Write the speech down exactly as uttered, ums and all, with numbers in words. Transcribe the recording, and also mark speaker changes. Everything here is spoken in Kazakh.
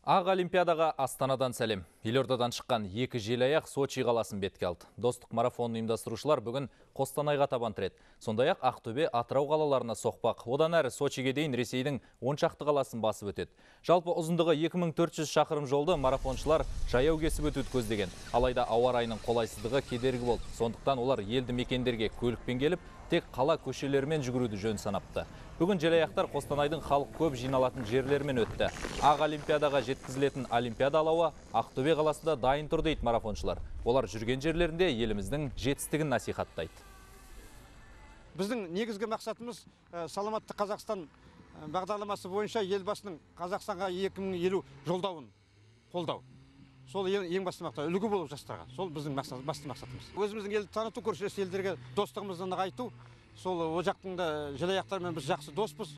Speaker 1: Ақ Олимпиадаға Астанадан сәлем. Елордадан шыққан екі желаяқ Сочи қаласын бетке алды. Достық марафонын ұйымдастырушылар бүгін Қостанайға табан тіреді. Сондай-ақ Ақтөбе, Атырау қалаларына соқпақ. Одан әрі Сочиге дейін Ресейдің он шақты қаласын басып өтеді. Жалпы ұзындығы екі мың төрт жүз шақырым жолды марафоншылар жаяу кесіп өтуді көздеген. Алайда ауа райының қолайсыздығы кедергі болды. Сондықтан олар елді мекендерге көлікпен келіп, тек қала көшелерімен жүгіруді жөн санапты. Бүгін желаяқтар Қостанайдың халық көп жиналатын жерлермен өтті. Ақ Олимпиадаға жеткізілетін Олимпиада алауы Ақтөбе қаласында дайын тұр дейді марафоншылар. Олар жүрген жерлерінде еліміздің жетістігін насихаттайды.
Speaker 2: Біздің негізгі мақсатымыз саламатты Қазақстан бағдарламасы бойынша елбасының Қазақстанға екі мың елу жолдауын қолдау. Сол ең басты мақсат, үлгі болып жастарға. Сол біздің басты мақсатымыз. Өзіміздің елді таныту, көршілес елдерге достығымызды нығайту. Сол о жақтың да желаяқтармен біз жақсы доспыз.